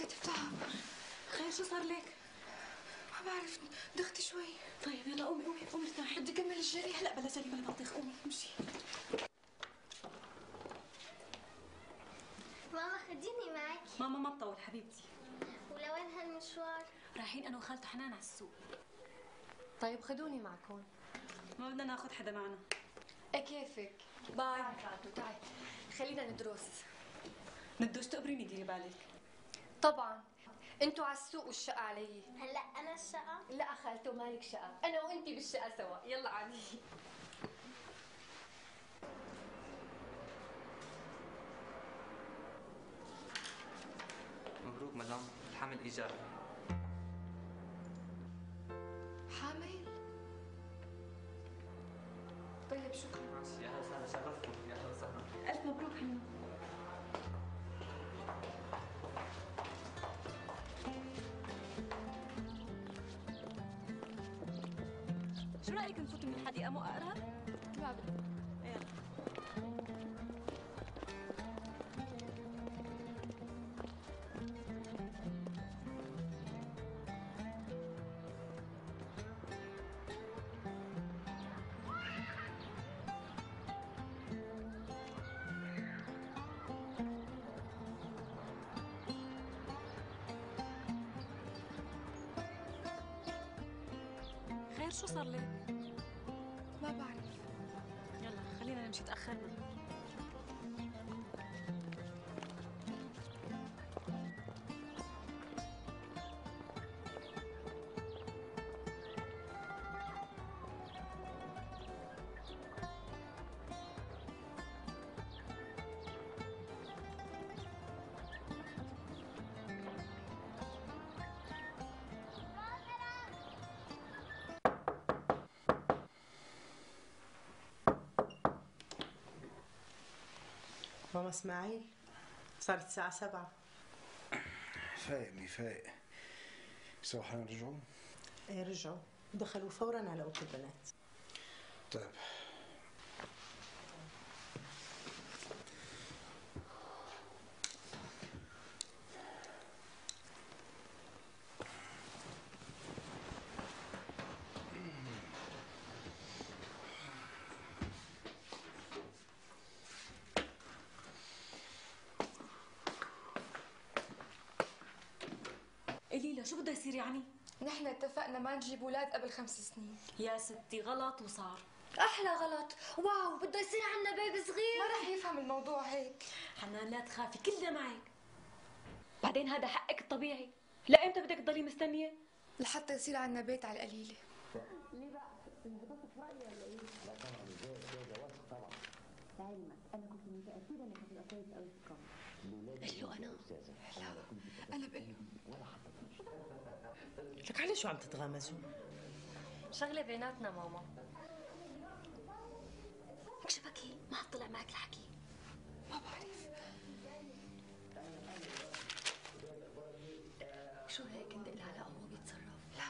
ساتر تعب. خير شو صار لك؟ ما بعرف، دختي شوي. طيب يلا قومي قومي قومي ارتاحي. بدي كمل الجري. هلا بلا جري بلا بطيخ، قومي امشي. ماما خديني معك. ماما ما بطول حبيبتي. ولوين هالمشوار؟ رايحين انا وخالته حنان على السوق. طيب خدوني معكم. ما بدنا ناخذ حدا معنا. ايه كيفك؟ باي. تعي خلينا ندرس. ندوش تقبريني ديري بالك. طبعا انتوا على السوق والشقة علي. هلا انا الشقة؟ لا خالته مالك شقة، انا وانتي بالشقة سوا. يلا عادي. مبروك مدام، الحمل ايجابي. حامل؟ طيب شكرا. يا هلا وسهلا، شرفتكم. يا هلا وسهلا. الف مبروك حنان. شو رايك نفوت من الحديقه مو اقرب؟ لا يلا. خير شو صار لك؟ ما بعرف. يلا خلينا نمشي تأخرنا. ماما اسماعيل، صارت الساعة 7. فايق مي فايق. سوا حنرجعوا؟ ايه رجعوا، دخلوا فورا على اوضة البنات. طيب. قليلة شو بدها يصير يعني؟ نحن اتفقنا ما نجيب اولاد قبل 5 سنين. يا ستي غلط وصار. احلى غلط. واو بده يصير عنا بيبي صغير. ما رح يفهم الموضوع هيك. حنان لا تخافي كلنا معك. بعدين هذا حقك الطبيعي. لا امتى بدك تضلي مستنية؟ لحتى يصير عنا بيت على القليلة. قل له انا. لا انا بقول له. لك على شو عم تتغامزوا؟ شغلة بيناتنا ماما. لك شبكي ما حطلع معك الحكي. ما بعرف. شو هيك ندق له على ابوه بيتصرف؟ لا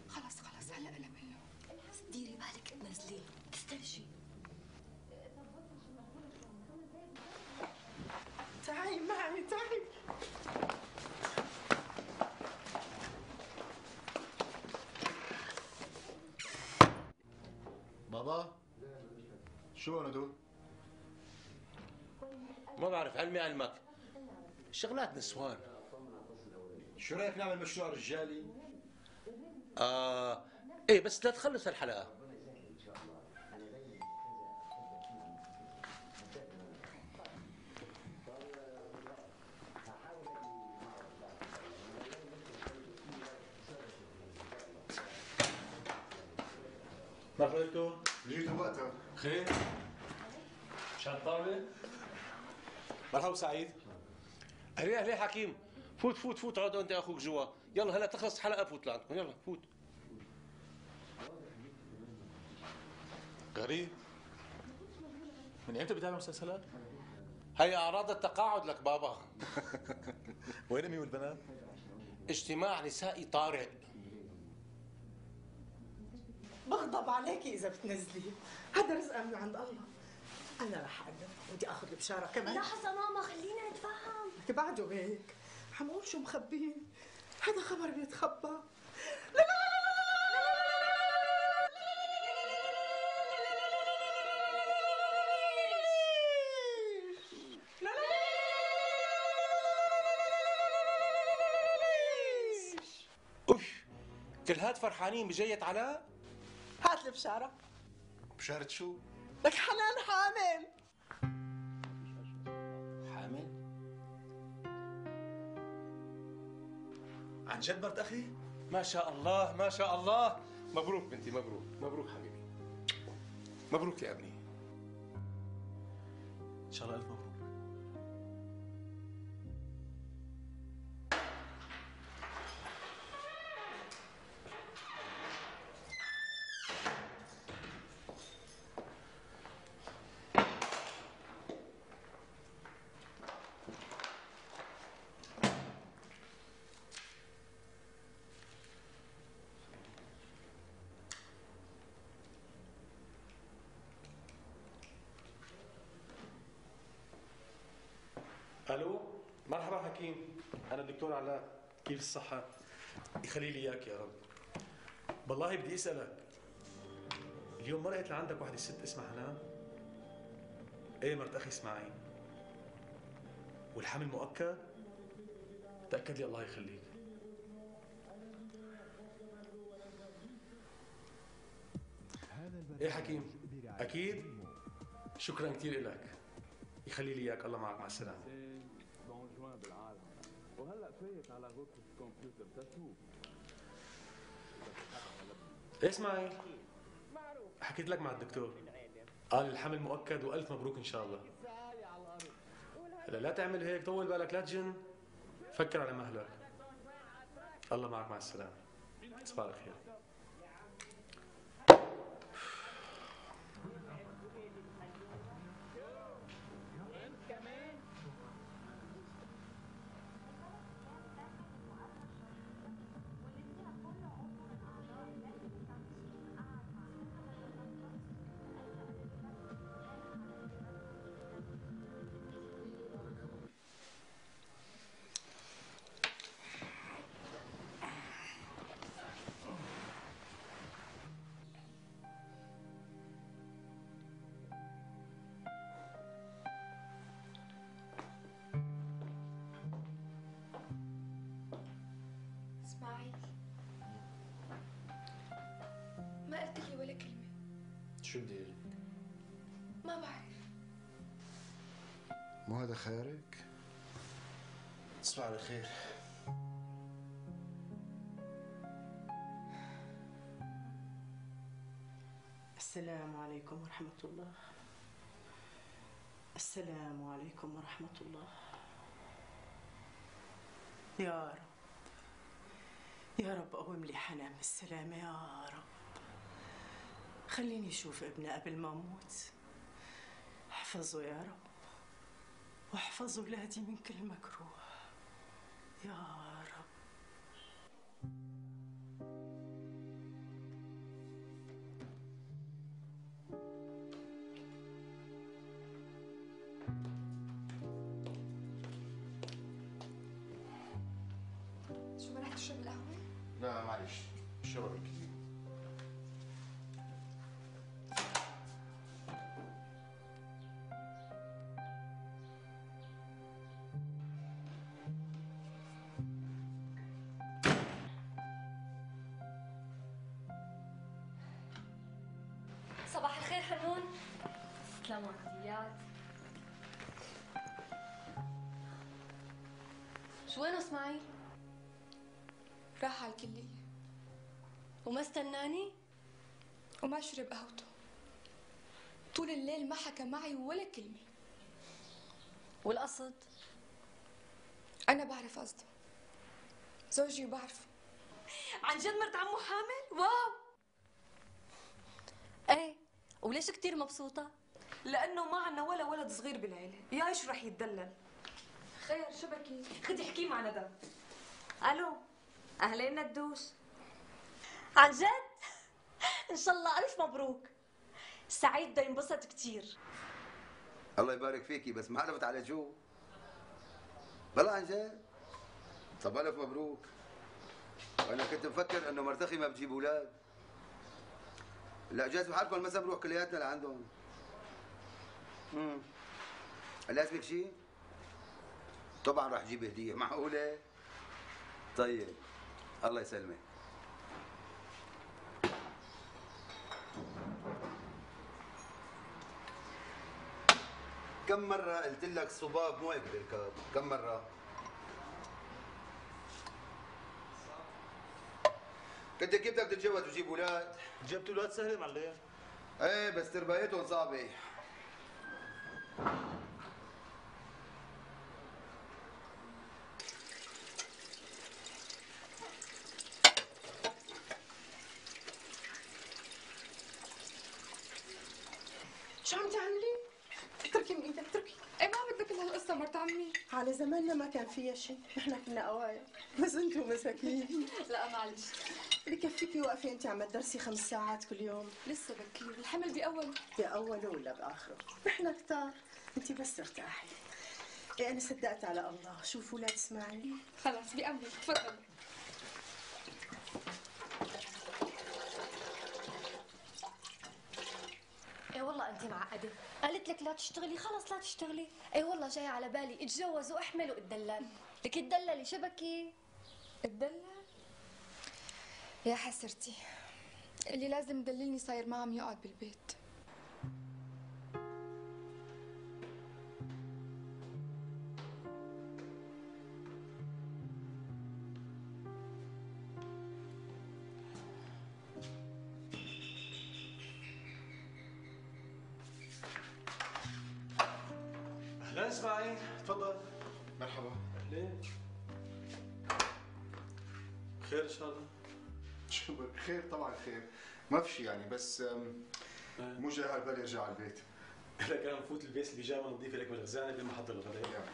خلص هلا انا بقول له. ديري بالك تنزليه تسترجي. تعي معي تعي. بابا شو هون هدول؟ ما بعرف، علمي علمك شغلات نسوان. شو رايك نعمل مشروع رجالي؟ ايه بس لا تخلص الحلقة. ما فهمتوا؟ جيتوا وقتها. خير؟ مشان طاولة؟ مرحبا سعيد. اهلين حكيم، فوت اقعد انت اخوك جوا. يلا هلا تخلص الحلقة فوت لعندكم، يلا فوت. غريب. من امتى بتابع مسلسلات؟ هي اعراض التقاعد لك بابا. وين امي والبنات؟ اجتماع نسائي طارئ. بغضب عليكي اذا بتنزلي، هذا رزق من عند الله. انا رح اقدم، بدي اخذ البشاره كمان. لحظة ماما خلينا نتفهم. بعده هيك حمقول شو مخبين، هذا خبر بيتخبى. لا لا اوف، كل هاد فرحانين بجية علاء؟ هات لي بشارة. بشارة شو؟ لك حنان حامل. حامل؟ عن جد مرت أخي؟ ما شاء الله ما شاء الله. مبروك بنتي، مبروك مبروك حبيبي، مبروك يا ابني. ان شاء الله الف مبروك. الو، مرحبا حكيم، انا الدكتور علاء، كيف الصحة؟ يخلي لي اياك يا رب. والله بدي اسألك، اليوم ما لقيت لعندك وحدة ست اسمها حنان؟ ايه مرت اخي اسماعيل. والحمل مؤكد؟ تأكد لي الله يخليك. ايه حكيم، اكيد؟ شكرا كثير لك، يخلي لي اياك، الله معك، مع السلامة. وهلا فايت على غرفة الكمبيوتر تشوف. اسمعي، حكيت لك مع الدكتور، قال الحمل مؤكد والف مبروك ان شاء الله. هلا لا تعمل هيك، طول بالك، لا تجن، فكر على مهلك. الله معك، مع السلامة، تصبح على خير. اسماعيل، ما قلت لي ولا كلمة. شو بدي أقول؟ ما بعرف. مو هذا خيارك؟ تصبح على خير. السلام عليكم ورحمة الله. السلام عليكم ورحمة الله. يا رب يا رب قوم لي حنان بالسلامة يا رب. خليني أشوف ابني قبل ما أموت. احفظه يا رب، واحفظ أولادي من كل مكروه يا رب. شو ما رح تشرب القهوة؟ لا معلش، شربك. صباح الخير حنون. تسلم ورديات. شو وينه اسماعيل؟ راح على الكلية وما استناني وما شرب قهوته. طول الليل ما حكى معي ولا كلمة. والقصد؟ أنا بعرف قصده، زوجي بعرفه. عن جد مرت عمو حامل؟ واو. ايه، وليش كتير مبسوطة؟ لأنه ما عنا ولا ولد صغير بالعيلة، يا إيش رح يتدلل. خير شو بكي؟ خدي احكي مع ندى. الو، اهلين ندوش. عن جد؟ ان شاء الله الف مبروك. سعيد بده ينبسط كتير. الله يبارك فيكي، بس ما عرفت على شو. والله عن جد طب ألف مبروك. أنا كنت مفكر إنه مرتخي ما بتجيب أولاد. لا جاز بحالكم المسا بنروح كلياتنا لعندهم. لازمك شيء؟ طبعا راح جيب هدية، معقولة؟ طيب الله يسلمك. كم مرة قلت لك صباب مو هيك بركاب؟ كم مرة؟ كنت كيف بدك تتجوز وتجيب اولاد؟ جبت اولاد سهله معلم. ايه بس تربايتهم صعبة. شو عم تعملي؟ اتركي من ايدك اتركي. ايه ما بدنا كل هالقصة مرت عمي. على زماننا ما كان فيها شيء، نحن كنا قوايا، بس انتم مساكين. لا معلش. بكفيكي واقفة انت عم تدرسي 5 ساعات كل يوم. لسه بكير، الحمل بأوله. بأوله ولا بآخره؟ نحن كتار، انت بس ارتاحي. ايه انا صدقت على الله، شوفوا ولاد اسماعيل. خلص بأمرك، تفضل. ايه والله انت معقده، قالت لك لا تشتغلي خلص لا تشتغلي. ايه والله جاي على بالي اتجوز واحمل واتدلل. لك تدللي شبكي. اتدلل؟ يا حسرتي، اللي لازم يدللني صاير ما عم يقعد بالبيت. اهلا اسماعيل، تفضل. مرحبا. اهلين. خير ان شاء الله. شو خير؟ طبعا خير، ما في شيء يعني، بس مو جاي على بالي ارجع على البيت. لك انا بفوت البيت البيجامه نظيفه لك بالغزانه قبل ما احضر الغداء.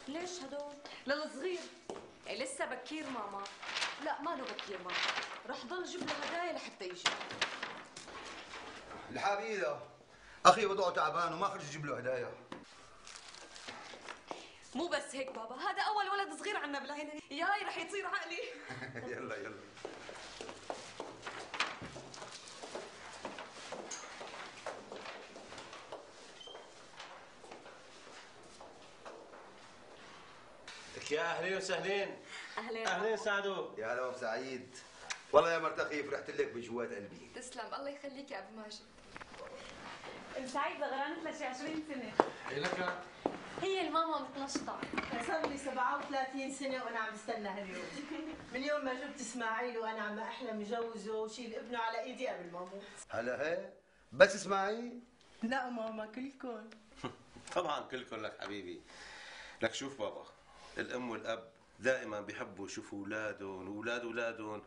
ليش هدول؟ للصغير. إيه لسه بكير ماما. لا ما له بكير ماما، رح ضل جيب له هدايا لحتى يجي. الحاب ايده. اخي وضعه تعبان وما خرج يجيب له هدايا. مو بس هيك بابا، هذا أول ولد صغير عنا بالعيلة، ياي رح يطير عقلي. يلا يلا. لك يا اهلين وسهلين. أهلين. اهلين سعدو. يا هلا وسعيد. والله يا مرتخي فرحت لك بجوات قلبي. تسلم، الله يخليك يا ابو ماجد. سعيد غرانت لها شي 20 سنة. ايه لك؟ هي الماما متنشطه. صار لي 37 سنة وانا عم بستنى هاليوم. من يوم ما جبت اسماعيل وانا عم احلم جوزه وشيل ابنه على ايدي قبل ما اموت. هلا هيك؟ بس اسماعيل؟ لا ماما كلكم. طبعا كلكم لك حبيبي. لك شوف بابا، الام والاب دائما بيحبوا يشوفوا اولادهم واولاد اولادهم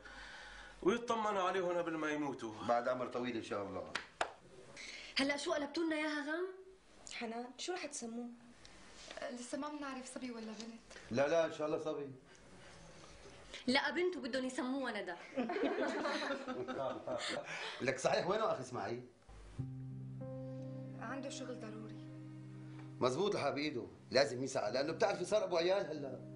ويطمنوا عليهم قبل ما يموتوا. بعد عمر طويل ان شاء الله. هلا شو قلبتوا لنا اياها غم؟ حنان شو رح تسموه؟ لسه ما بنعرف صبي ولا بنت. لا لا ان شاء الله صبي. لا بنت وبدهم يسموها ندى. لك صحيح وينه اخي اسماعيل؟ عنده شغل ضروري. مزبوط لها بايده، لازم يسعى لانه بتعرفي صار ابو عيال هلا.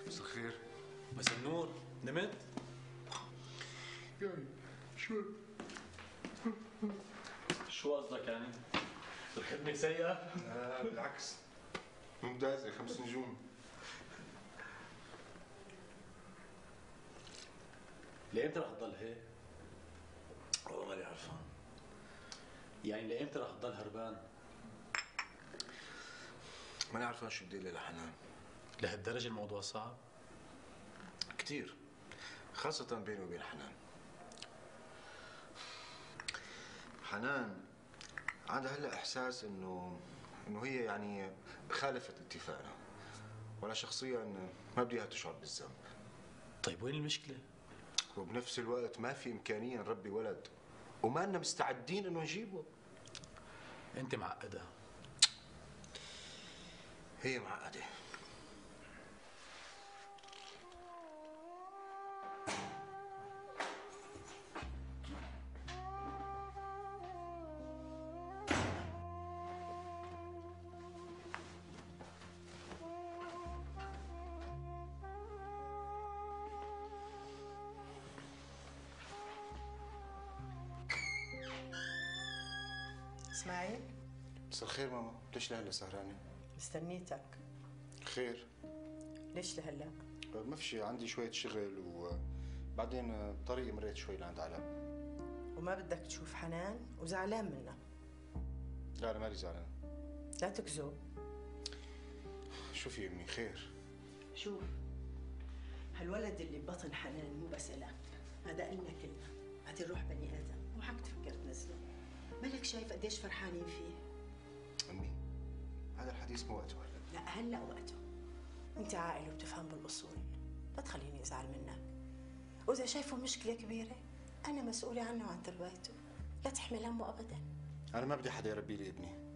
مساء الخير. مساء النور، نمت؟ يعني شو قصدك يعني؟ الخدمة سيئة؟ بالعكس ممتازة، 5 نجوم. لإمتى رح تضل هيك؟ والله ماني عرفان. يعني لإمتى رح تضل هربان؟ ماني عرفان شو بدي لها حنان. لهالدرجة الموضوع صعب؟ كثير، خاصة بيني وبين حنان. حنان عندها هلا احساس انه هي يعني خالفت اتفاقنا، وأنا شخصيا ما بدي إياها تشعر بالذنب. طيب وين المشكلة؟ وبنفس الوقت ما في إمكانية نربي ولد وما لنا مستعدين إنه نجيبه. أنت معقدة. هي معقدة. اسماعيل، مساء الخير ماما، ليش لهلا سهرانة؟ مستنيتك. خير؟ ليش لهلا؟ ما في شيء، عندي شوية شغل وبعدين طريقي مريت شوي لعند علاء. وما بدك تشوف حنان وزعلان منها؟ لا أنا مالي زعلان. لا تكذب. شوفي أمي، خير؟ شوف، هالولد اللي ببطن حنان مو بس إلك، هذا إلنا كلنا، هذه الروح بني آدم، مو حق تفكر تنزله. مالك شايف قديش فرحانين فيه؟ أمي هذا الحديث مو وقته هلا. لا هلا وقته. أنت عاقل وبتفهم بالأصول، لا تخليني أزعل منك. وإذا شايفه مشكلة كبيرة أنا مسؤولة عنه وعن تربيته، لا تحمل همه أبدا. أنا ما بدي حدا يربي لي ابني.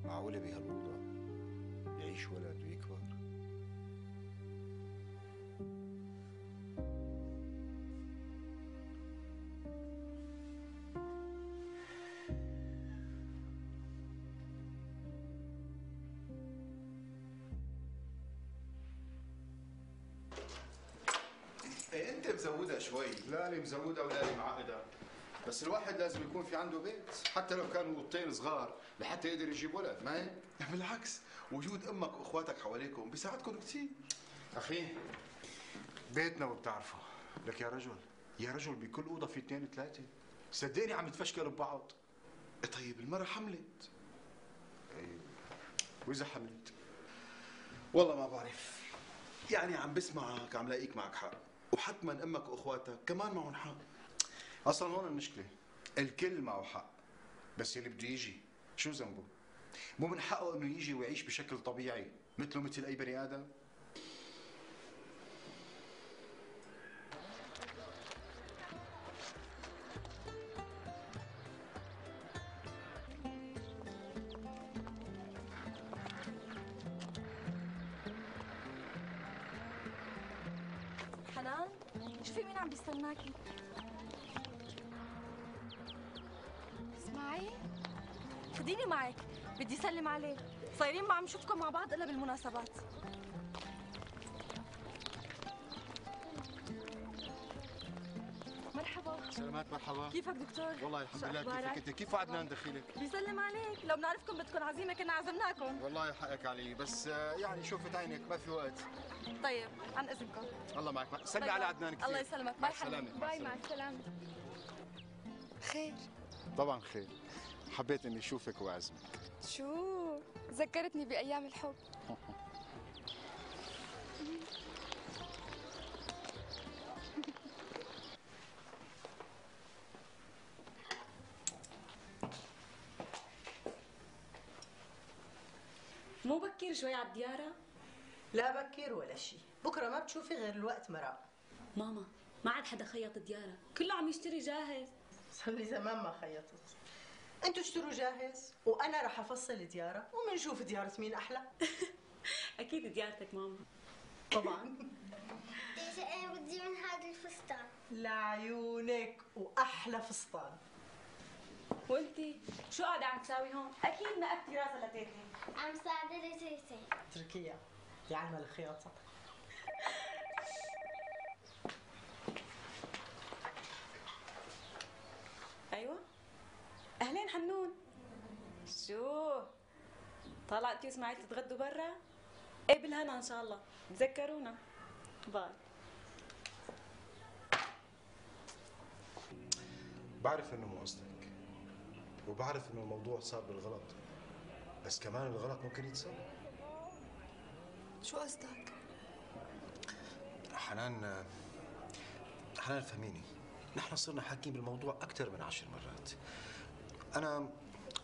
معقولة بهالأوضة يعيش ولد ويكبر؟ ايه انت مزودها شوي. لا لي مزودة ولا لي معقدة، بس الواحد لازم يكون في عنده بيت، حتى لو كانوا اوضتين صغار لحتى يقدر يجيب ولد، ما هيك؟ بالعكس، وجود امك واخواتك حواليكم بيساعدكم كثير. أخي بيتنا وبتعرفه، لك يا رجل، يا رجل بكل أوضة في 2 3، صدقني عم يتفشكلوا ببعض. طيب المرة حملت. إيه. وإذا حملت؟ والله ما بعرف، يعني عم بسمعك عم لاقيك معك حق، وحتما امك واخواتك كمان معهم حق. أصلا هون المشكلة، الكل معه حق، بس اللي بده يجي شو ذنبه؟ مو من حقه إنه يجي ويعيش بشكل طبيعي مثله مثل أي بني آدم؟ حنان، شوفي مين عم بيستناكي. اسمعي، خديني معك، بدي سلم عليه. صايرين ما عم نشوفكم مع بعض الا بالمناسبات. مرحبا. سلامات، مرحبا. كيفك دكتور؟ والله الحمد لله. كيفك انت؟ كيف وعدنا ندخلك؟ بيسلم عليك، لو بنعرفكم بدكم عزيمه كنا عزمناكم. والله حقك علي، بس يعني شوفت عينك ما في وقت. طيب عن اذنكم. الله معك، سلمي على عدنان كثير. الله يسلمك. مع باي السلامة. باي، مع السلامة. خير؟ طبعا خير، حبيت اني اشوفك واعزمك. شو؟ ذكرتني بأيام الحب. مو بكير شوي على الديارة؟ لا بكير ولا شيء، بكره ما بتشوفي غير الوقت مرق. ماما ما عاد حدا خيط الديارة، كله عم يشتري جاهز. صار لي زمان ما خيطت. انتوا اشتروا جاهز وانا رح افصل ديارة ومنشوف ديارة مين احلى. اكيد ديارتك ماما. طبعا. انا بدي من هذا الفستان. لعيونك، واحلى فستان. وانتي شو قاعدة عم تساوي هون؟ اكيد نقبتي راسها لتيتي. عم ساعدها تيتي. اتركيها، دي علمها الخياطة. ايوه. اهلين حنون. شو طالع انتي واسماعيل تتغدوا برا؟ ايه بالهنا ان شاء الله، تذكرونا. باي. بعرف انه مو قصدك، وبعرف انه الموضوع صار بالغلط، بس كمان الغلط ممكن يتصلح. شو قصدك؟ حنان فهميني، نحن صرنا حاكين بالموضوع أكثر من 10 مرات.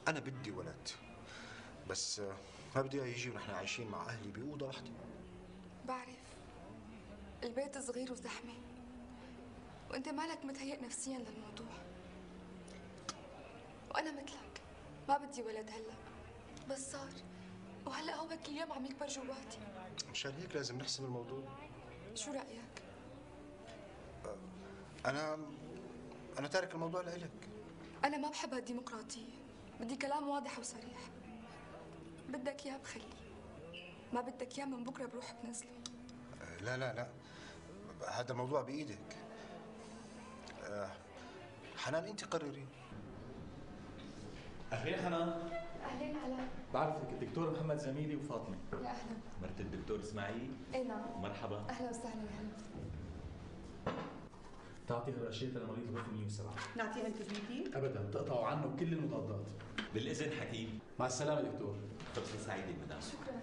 أنا بدي ولد، بس ما بدي يجي ونحن عايشين مع أهلي بأوضة واحدة. بعرف البيت صغير وزحمة، وأنت مالك متهيئ نفسيا للموضوع، وأنا مثلك ما بدي ولد هلا، بس صار، وهلا هو كل يوم عم يكبر جواتي. مشان هيك لازم نحسم الموضوع. شو رأيك؟ أنا تارك الموضوع لإلك. أنا ما بحب هالديمقراطية، بدي كلام واضح وصريح. بدك إياه بخليه، ما بدك إياه من بكرة بروح بنزله. لا لا لا، هذا الموضوع بإيدك. حنان أنت قرري. أهلين حنان. أهلين هلا. بعرفك الدكتور محمد زميلي وفاطمة. يا أهلا. مرت الدكتور اسماعيل؟ إيه نعم. مرحبا. أهلا وسهلا. يا هلا. تعطي هالاشياء لمريض غرفة 107. نعطيه انتبيوتيك؟ ابدا، تقطعوا عنه كل المضادات. بالاذن حكيم. مع السلامة دكتور. فرصة سعيدة مدام. شكرا.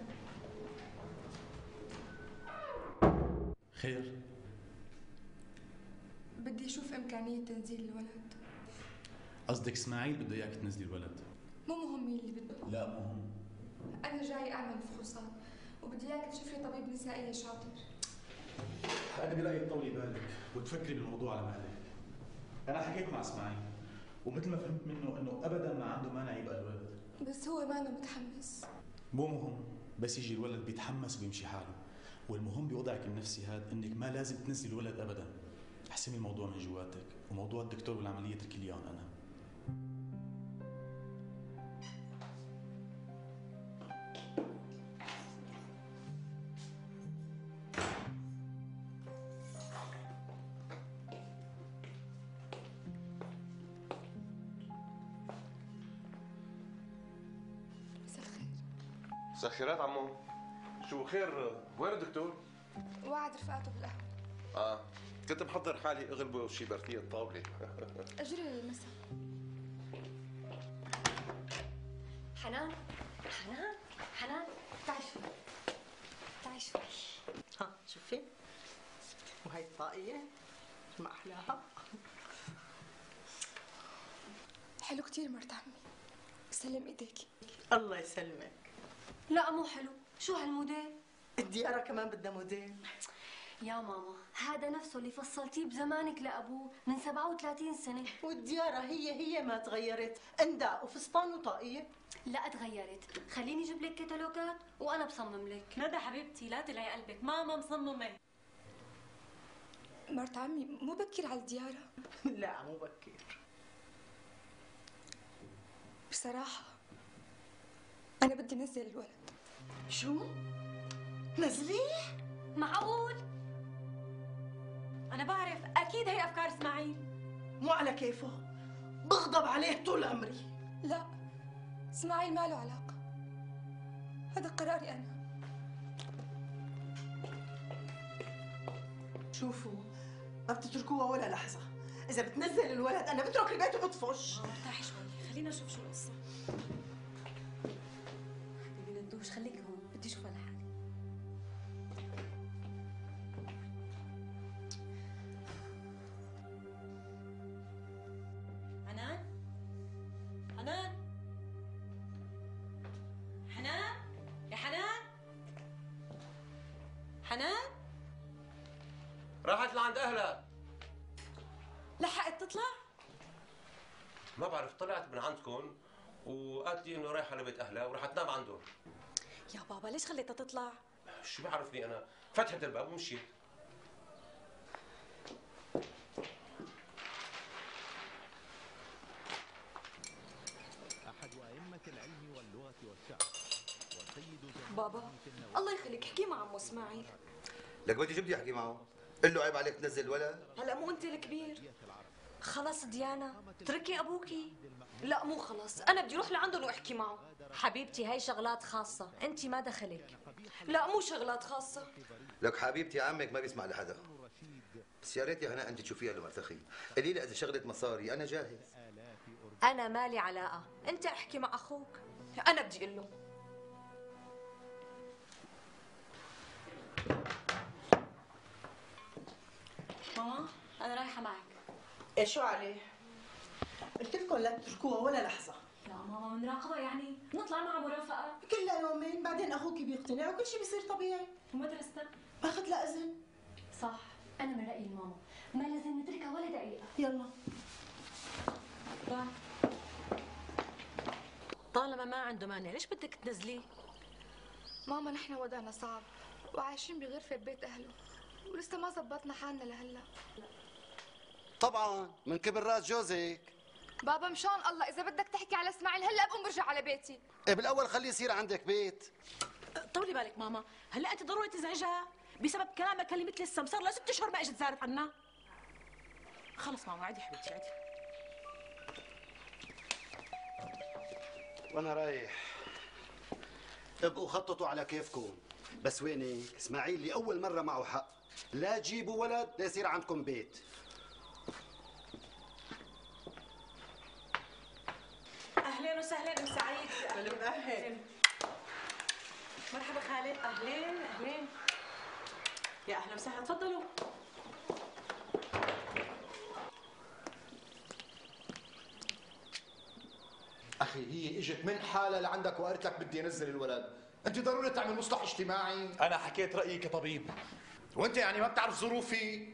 خير؟ بدي أشوف إمكانية تنزيل الولد. قصدك اسماعيل بده اياك تنزلي الولد؟ مو مهم مين اللي بده. لا مهم. أنا جاي أعمل فحوصات، وبدي إياك تشوف لي طبيب نسائي شاطر. أنا برأيي تطولي بالك وتفكري بالموضوع على مهلك. أنا حكيت مع اسماعيل ومثل ما فهمت منه إنه أبداً ما عنده مانع يبقى الولد. بس هو ما أنا متحمس. مو مهم، بس يجي الولد بيتحمس وبيمشي حاله، والمهم بوضعك النفسي هذا إنك ما لازم تنزلي الولد أبداً. احسمي الموضوع من جواتك، وموضوع الدكتور والعملية اتركي لي إياهم أنا. مساء الخيرات عمو. شو خير؟ وين الدكتور؟ وعد رفقاته بالقهوة. كنت محضر حالي اغلبه شي برتية طاولة. اجري للمسا. حنان تعي شوي. ها شوفي، وهي الطاقية ما أحلاها. حلو كتير مرت عمي، سلم ايديكي. الله يسلمك. لا مو حلو، شو هالموديل؟ الديارة كمان بدها موديل. يا ماما هذا نفسه اللي فصلتيه بزمانك لأبوه من 37 سنة. والديارة هي ما تغيرت، انداء وفستان وطاقية. لا تغيرت، خليني اجيب لك كتالوجات وانا بصمم لك. ندى حبيبتي لا تلعي قلبك، ماما مصممة. مرت عمي مو بكير على الديارة. لا مو بكير. بصراحة أنا بدي نزل الولد. شو؟ نزليه؟ معقول؟ أنا بعرف أكيد هي أفكار إسماعيل. مو على كيفه، بغضب عليه طول عمري. لا، إسماعيل ما له علاقة، هذا قراري أنا. شوفوا، ما بتتركوها ولا لحظة. إذا بتنزل الولد أنا بترك البيت وبطفش. ارتاحي شوي، خلينا نشوف شو القصة. حبيبي ندوش خليك هون، بدي أشوفها لحالي. حنان راحت لعند اهلها. لحقت تطلع؟ ما بعرف، طلعت من عندكم وقالت لي انه رايحه لبيت اهلها وراح تنام عندهم. يا بابا ليش خليتها تطلع؟ شو بعرفني انا، فتحت الباب ومشيت. احد ائمه العلم واللغه والشعر والسيد بابا الله يخليك احكي مع عمو اسماعيل. لك بدي جبدي احكي معه، قل له عيب عليك تنزل الولد. هلا مو انت الكبير. خلص ديانا تركي ابوكي. لا مو خلص، انا بدي اروح لعندهم واحكي معه. حبيبتي هاي شغلات خاصة، انت ما دخلك. لا مو شغلات خاصة. لك حبيبتي عمك ما بيسمع لحدا. بس يا ريت يا هناء انت تشوفيها لمرتخي، قولي لها اذا شغلة مصاري انا جاهز. انا مالي علاقة، انت احكي مع اخوك. انا بدي اقول له. ماما انا رايحة معك. ايه شو عليه؟ قلت لكم لا تتركوها ولا لحظة. لا ماما بنراقبها يعني نطلع معها مرافقة. كلها يومين بعدين اخوك بيقتنع وكل شيء بيصير طبيعي. ومدرستها باخذ لها اذن. صح، انا من رايي الماما ما لازم نتركها ولا دقيقه. يلا باي. طالما ما عنده مانع ليش بدك تنزليه؟ ماما نحن وضعنا صعب وعايشين بغرفة ببيت أهله ولسه ما زبطنا حالنا لهلا. طبعا من كبر راس جوزك. بابا مشان الله إذا بدك تحكي على إسماعيل هلا بقوم برجع على بيتي. إيه بالاول خليه يصير عندك بيت. طولي بالك ماما، هلا انت ضروري تزعجها بسبب كلامك اللي مثل السم، صار لها 6 اشهر ما اجت زارت عنا. خلص ماما عادي حبيبتي عادي. وانا رايح. ابقوا خططوا على كيفكم، بس وينك؟ اسماعيل لاول مره معه حق، لا تجيبوا ولد ليصير عندكم بيت. اهلين وسهلين ام سعيد. اهلا. مرحبا خالد. اهلين اهلين. يا اهلا وسهلا تفضلوا. اخي هي اجت من حالها لعندك وقالت لك بدي انزل الولد، انت ضروري تعمل مصلح اجتماعي. انا حكيت رايي كطبيب. وانت يعني ما بتعرف ظروفي؟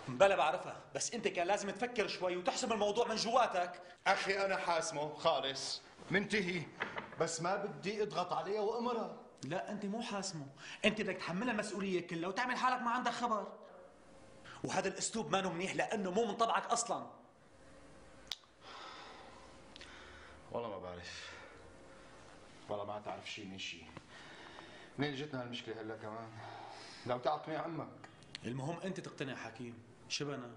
بلا بعرفها، بس انت كان لازم تفكر شوي وتحسم الموضوع من جواتك. اخي انا حاسمه خالص، منتهي، بس ما بدي اضغط عليها وامرها. لا انت مو حاسمه، انت بدك تحملها المسؤوليه كلها وتعمل حالك ما عندك خبر. وهذا الاسلوب ما منيح لانه مو من طبعك اصلا. والله ما بعرف، والله ما تعرف شيء من شيء. منين جتنا هالمشكله هلا كمان؟ لو تعطني عمك. المهم انت تقتنع حكيم، شبنا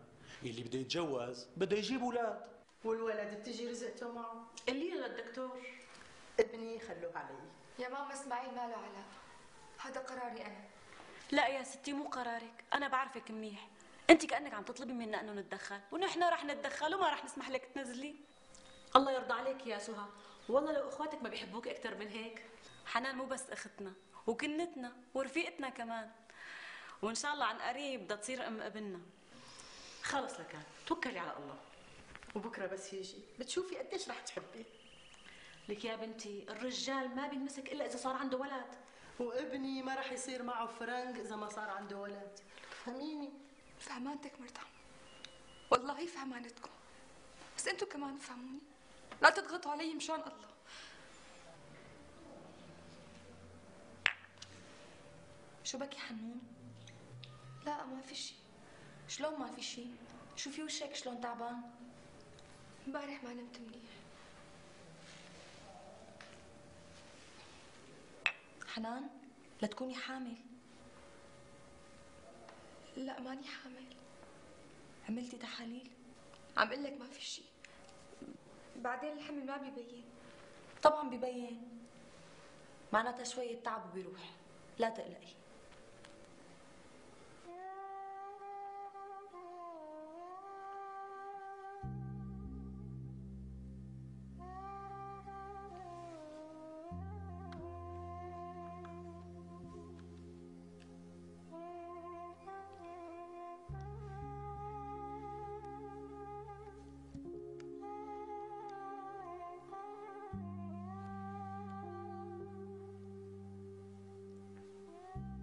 اللي بده يتجوز بده يجيب اولاد. والولد بتجي رزقته معه. اللي للدكتور ابني خلوه علي. يا ماما اسماعيل ما له علاقة، هذا قراري أنا. لا يا ستي مو قرارك، انا بعرفك منيح. انت كانك عم تطلبي منا انه نتدخل، ونحن رح نتدخل وما رح نسمح لك تنزلي. الله يرضى عليك يا سهى، والله لو اخواتك ما بيحبوك اكثر من هيك. حنان مو بس اختنا وكنتنا ورفيقتنا كمان، وان شاء الله عن قريب بدها تصير ام ابننا. خلص لكان توكلي على الله. وبكره بس يجي بتشوفي قديش رح تحبيه. لك يا بنتي الرجال ما بينمسك الا اذا صار عنده ولد، وابني ما رح يصير معه فرنك اذا ما صار عنده ولد. فهميني؟ فهمانتك مرتهم، والله فهمانتكم، بس انتوا كمان فهموني، لا تضغطوا علي مشان الله. شو بكي حنون؟ لا ما في شيء. شلون ما في شيء؟ شوفي وشك شلون تعبان. امبارح ما نمت منيح. حنان لا تكوني حامل. لا ماني حامل. عملتي تحاليل؟ عم قلك ما في شيء، بعدين الحمل ما بيبين. طبعا ببين، معناتها شوية تعب وبيروح، لا تقلقي.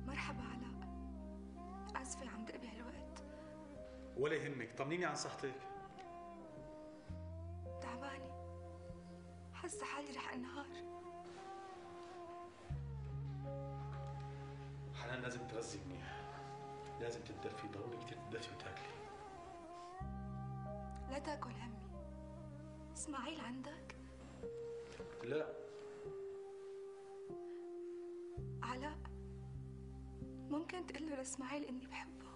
مرحبا علاء، آسفة عم دق بهالوقت. ولا يهمك، طمنيني عن صحتك. تعبانة، حاسة حالي رح انهار. حنان لازم تغذي منيح، لازم تتدفي، ضروري كثير تتدفي وتاكلي. لا تاكل همي. اسماعيل عندك؟ لا. علاء ممكن تقول له لاسماعيل اني بحبه،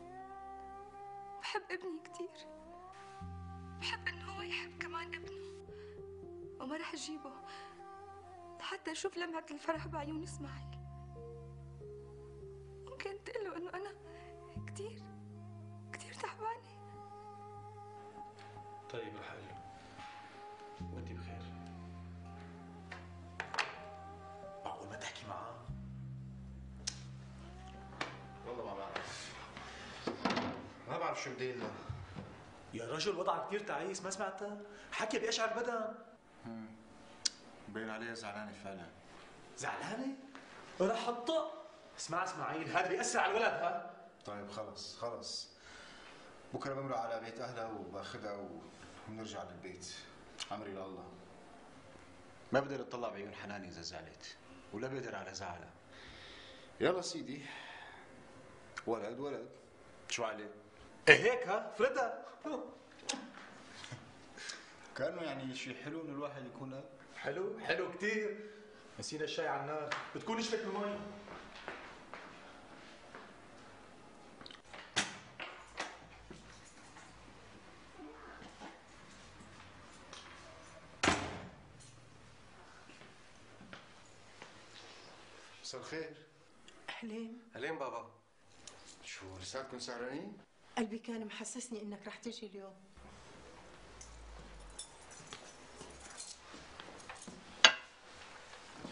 بحب ابني كثير، بحب انه هو يحب كمان ابنه، وما رح اجيبه لحتى أشوف لمعة الفرح بعيون إسماعيل. ممكن تقله إنه أنا كتير تعبانة. طيب رح أقول له وأنت بخير. معقول ما تحكي معاه؟ والله ما بعرف شو بدي له. يا رجل وضعك كثير تعيس، ما سمعتها؟ حكي بأشعر البدن. باين عليها زعلانة فعلا. زعلانة؟ رح أطق. اسمع اسماعيل، هذا بيأثر على الولد ها؟ طيب خلص بكره بمرق على بيت اهلها وباخذها وبنرجع للبيت. امري لله. ما بقدر اطلع بعيون حنان اذا زعلت، ولا بقدر على زعلها. يلا سيدي، ولد شو عليه؟ هيك ها؟ فردها. كانه يعني شيء حلو انه الواحد يكون اب. حلو كثير. نسينا الشاي على النار، بتكون نشفت المي. مساء الخير. أهلين بابا. شو لساتكم سهرانين؟ قلبي كان محسسني انك رح تجي اليوم.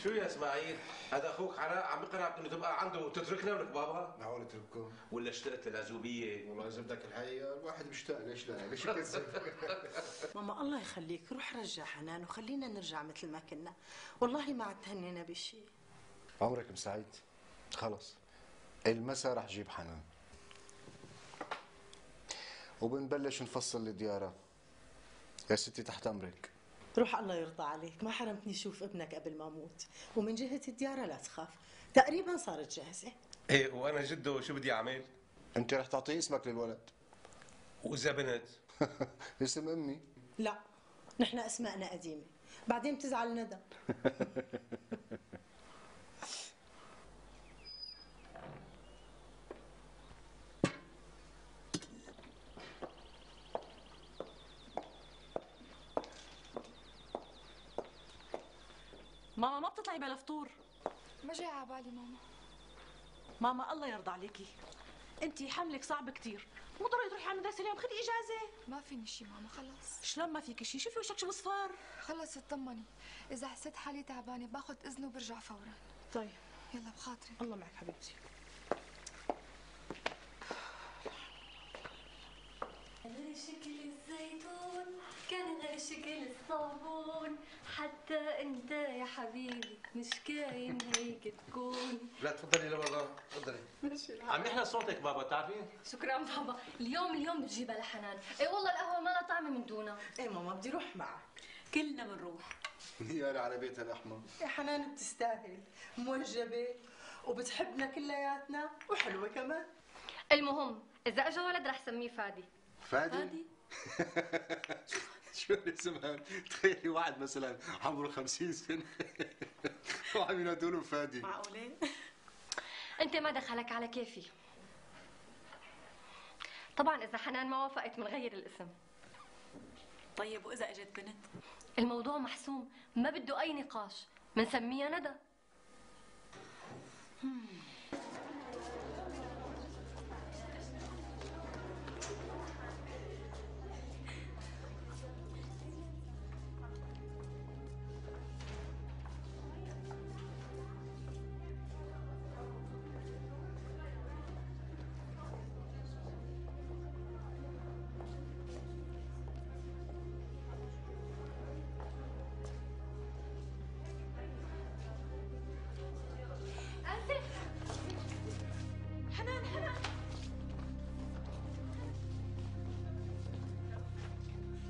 شو يا اسماعيل؟ هذا اخوك علاء عم يقنعك انه تبقى عنده وتتركنا ولك بابا؟ معقول اترككم؟ ولا اشتقت للعزوبيه؟ والله اذا بدك الحقيقه الواحد بيشتاق، ليش لا؟ ليش يكذب؟ ماما الله يخليك، روح رجع حنان وخلينا نرجع مثل ما كنا. والله ما عاد تهنينا بشيء. عمرك مسعيد؟ خلص المسا رح جيب حنان وبنبلش نفصل الديارة. يا ستي تحت امرك. روح الله يرضى عليك، ما حرمتني شوف ابنك قبل ما اموت. ومن جهة الديارة لا تخاف، تقريبا صارت جاهزة. ايه وانا جده شو بدي اعمل؟ انت رح تعطي اسمك للولد. واذا بنت؟ اسم امي. لا نحن اسماءنا قديمة، بعدين بتزعل ندى. ماما ما بتطلعي بلا فطور. ما جاي على بالي ماما الله يرضى عليكي، انتي حملك صعب كتير، مو ضروري تروحي على المدرسه اليوم، خدي اجازه. ما فيني شي ماما، خلص. شلون ما فيك شي؟ شوفي وشك شو مصفر. خلص اطمني، اذا حسيت حالي تعبانه باخذ اذن وبرجع فورا. طيب يلا بخاطري. الله معك حبيبتي. غير شكل الزيتون كان غير شكل الصابون، حتى انت يا حبيبي مش كاين هيك تكون. لا تفضلي لبابا، تفضلي. ماشي عم نحلى صوتك بابا، بتعرفين؟ شكرا بابا. اليوم بتجيبها لحنان. اي والله القهوه ما لها طعمه من دونها. ايه ماما بدي روح معك. كلنا بنروح. يا على بيتها الاحمر. يا حنان بتستاهل، موجبة وبتحبنا كلياتنا وحلوة كمان. المهم اذا اجى ولد رح سميه فادي. فادي؟ شو الاسم هذا؟ تخيلي واحد مثلا عمره 50 سنة وعم ينادوا له فادي. معقولة؟ انت ما دخلك على كيفي. طبعا اذا حنان ما وافقت بنغير الاسم. طيب واذا اجت بنت؟ الموضوع محسوم، ما بده اي نقاش، بنسميها ندى.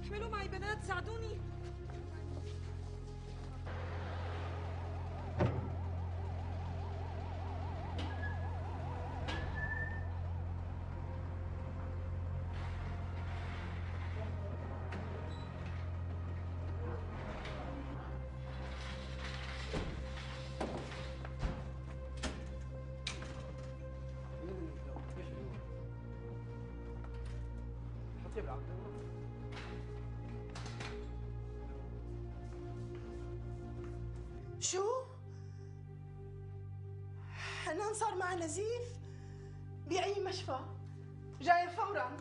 احملوا معي بنات، ساعدوني. شو؟ كمان صار معها نزيف بأي مشفى. جاية فورا.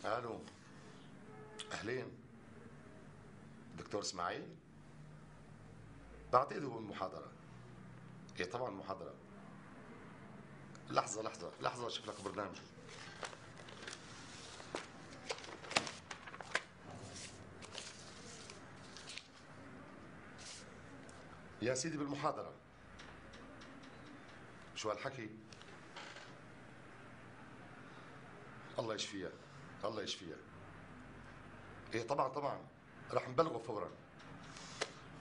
الو، اهلين. دكتور اسماعيل؟ بعتقد هو المحاضرة. ايه طبعا محاضرة. لحظة اشوف لك برنامج. يا سيدي بالمحاضرة. شو هالحكي؟ الله يشفيها، الله يشفيها. ايه طبعا رح نبلغه فورا.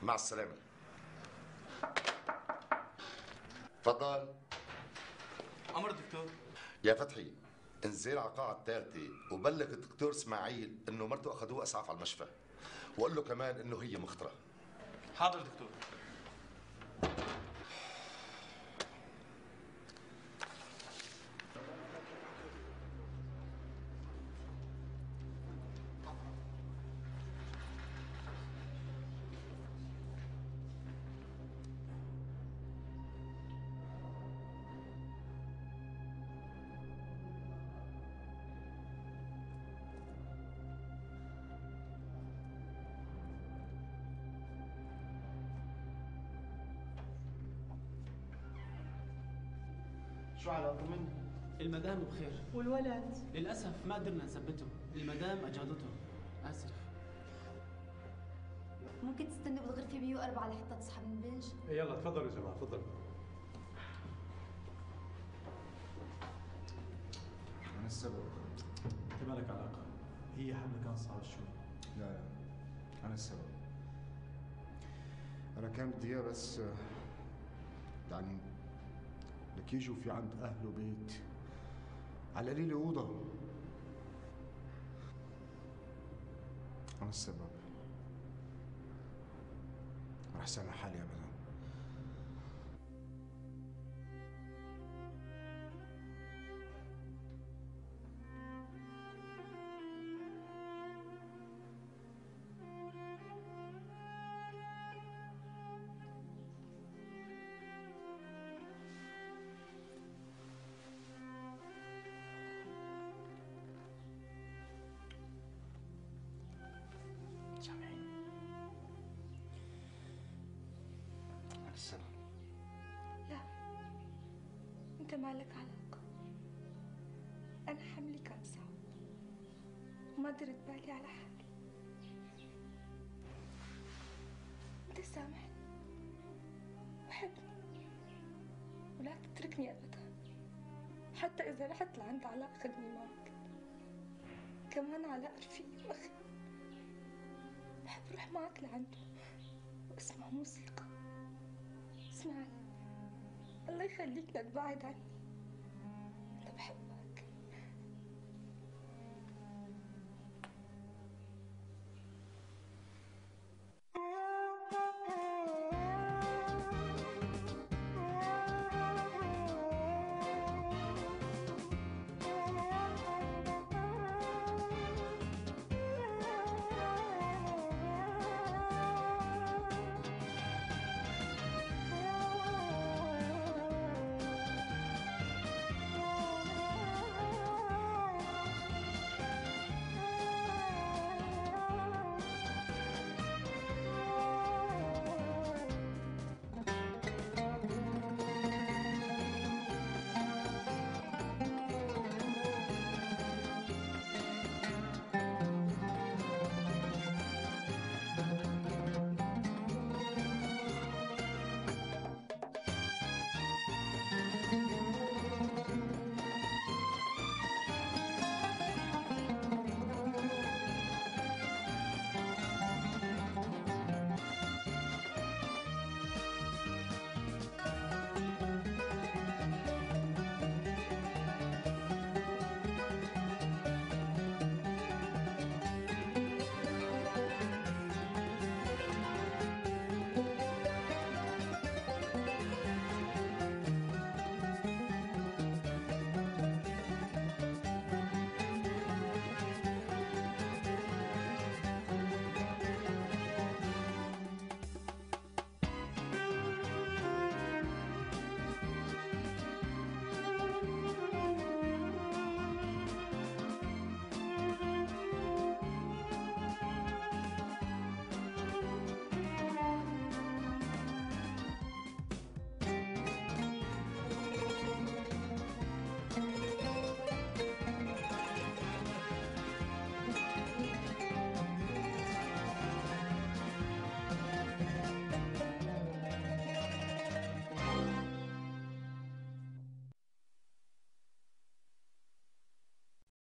مع السلامة. تفضل. أمر دكتور. يا فتحي، انزل على القاعة الثالثة وبلغ الدكتور اسماعيل انه مرته اخذوه اسعاف على المشفى، وقول له كمان انه هي مخطرة. حاضر دكتور. شو على طمني؟ المدام بخير. والولد؟ للأسف ما قدرنا نثبته، المدام أجهضته. آسف. ممكن تستنوا بالغرفة 104 لحتى تصحى من البنج؟ يلا تفضلوا يا جماعة، تفضلوا. أنا السبب. أنت مالك علاقة، هي حملة كان صعب شوي. لا أنا السبب. أنا كان بدي إياه بس يعني لك يجوا في عند أهله بيت على قليل أوضة. أنا السبب. ما رح سامح حالي أبدا. لا، انت مالك علاقة. انا حملي كان صعب وما درت بالي على حالي. انت سامحني وحبني ولا تتركني ابدا. حتى اذا رحت لعند علاء خدني معك. كمان علاء رفيقي واخي، بحب روح معك لعنده واسمع موسيقى. اسمعني، الله يخليك لا تبعد عني.